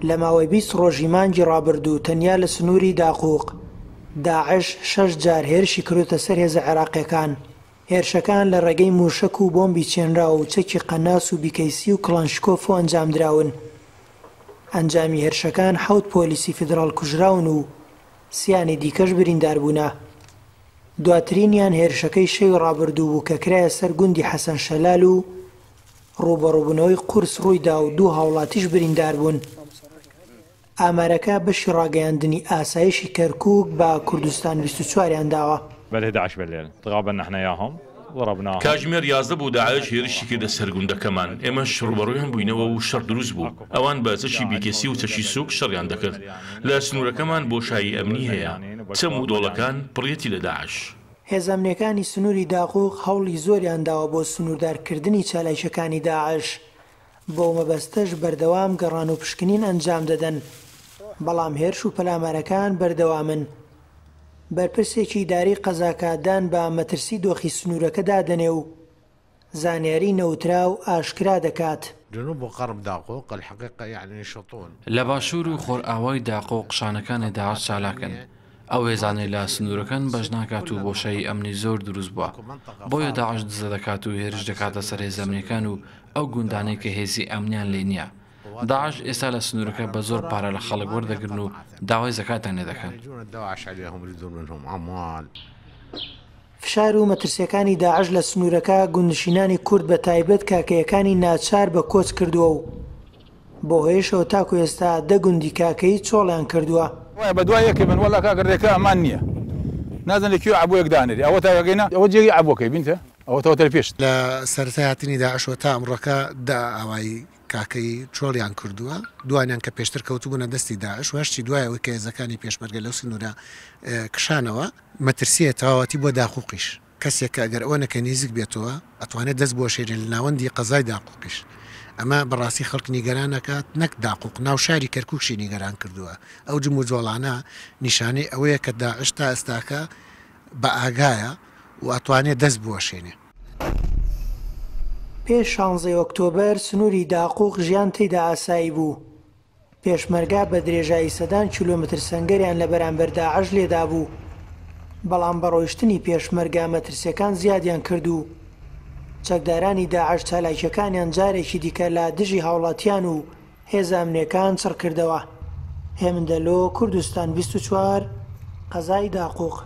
لە ماوەی 20 ڕۆژی مانگی ڕابردوو تەنیا لە سنووری داقوق، داعش شەش جار هێرشی کردۆتە سەر هێزە عێراقییەکان. هێرشەکان لە ڕێگەی مووشەک و بۆمبی چێنراو و چەکی قەناس و بیکەیسی و کڵانشکۆف ئەنجامدراون. ئەنجامی هێرشەکان حەوت پۆلیسی فیدراڵ کوژراون و سیانی دیکەش برینداربوونە. دواترینیان هێرشەکەی شەوی ڕابردوو بوو کە کرایە سەر گوندی حەسەن شەلال و ڕووبەڕووبوونەوەی قورس ڕوویدا و دوو هاوڵاتیش برینداربوون. ئامارەکە بەشی ڕاگەیاندنی ئاسایشی کەرکوک بە کوردستان 24 یان داوە. کاتژمێر 11 بوو داعش هێرشی کردە سەر گوندەکەمان، ئێمەش ڕووبەڕوویان بووینەوە و شەڕ دروست بوو، ئەوان بە چەکی بیکێسی و چەکی سووک شەڕیان دەکرد، لە سنوورەکەمان بۆشایی ئەمنی هەیە، چەم و دۆڵەکان پڕیەتی لە داعش. هێزە ئەمنییەکانی سنووری داقوق هەوڵی زۆریان داوە بۆ سنووردارکردنی چالاکییەکانی داعش، بەو مەبەستەش بەردەوام گەڕان و پشکنین ئەنجام دەدەن، بەڵام هێرش و پەلامارەکان بەردەوامن. بەرپرسێکی ئیداری قەزاکە دان بە مەترسی دۆخی سنوورەکەدا دەنێ و زانیاری نەوتراو ئاشکرا دەکات. لە باشوور و خۆرئاوای داقوق شانەکانی داعش چالاکن، ئەو هێزانەی لە سنوورەکەن بەش ناکات و بۆشایی ئەمنی زۆر دروست بووە، بۆیە داعش دزە دەکات و هێرش دەکاتە سەر هێزە ئەمنییەکان و ئەو گوندانەی کە هێزی ئەمنیان لێ نییە. داعش ئێستا لە سنوورەکە بە زۆر پارە لە خەڵک وەردەگرن و داوای زەکاتیان لێ دەکەن. فشار و مەترسییەکانی داعش لە سنوورەکە گوندنشینانی کورد بە تایبەت کاکەیەکانی ناچار بە کۆچ کردووە و بەو هۆیەشەوە تاکو ئێستا دە گوندی کاکەیی چۆڵیان کردووە. وایە بەدوای یەکێ بن وەڵا کاکە رێکە ئەمان نیە نازانم لە کوێ عەبۆیەک دانرێ ئەوە تا گەینە ئەوە جێگەی عەبۆکەی بینتە ئەوە تەوە تەر پێشت. لە سەرەتای هاتنی داعشەوە تا ئەمڕۆکە دە ئاوایی کاکەیی چۆڵیان کردووە، دووانیان کە پێشتر کەوتبوونە دەستی داعش و هەشتی دوای ئەوەی کە هێزەکانی پێشمەرگە لەو سنوورە کشانەوە. مەترسییە تەواوەتی بۆ داقوقیش، کەسێک کە ئەگەر ئەوەنەکە نیزک بێتەوە ئەتوانێت دەست بوەشێنێت لە ناوەندی قەزای داقوقیش، ئەمە بەڕاستی خەڵک نیگەران ئەکات نەک داقوق ناو شاری کەرکوکشی نیگەران کردووە، ئەو جموجۆڵانە نیشانەی ئەوەیە کە داعش تا ئێستاکە بە ئاگایە و ئەتوانێت دەست بوەشێنێ. پێش شانزەی ئۆکتۆبەر سنووری داقوق ژیان تێیدا ئاسایی بوو، پێشمەرگە بە درێژایی سەدان کیلۆمەتر سەنگەریان لە بەرامبەر داعش لێدابوو، بەڵام بە ڕۆیشتنی پێشمەرگە مەترسیەکان زیادیان کرد و چەکدارانی داعش چالاکیەکانیان جارێکی دیکە لە دژی هاوڵاتیان و هێزە ئەمنیەکان چڕکردەوە. هێمن دەلۆ، کوردستان 24، قەزای داقوق.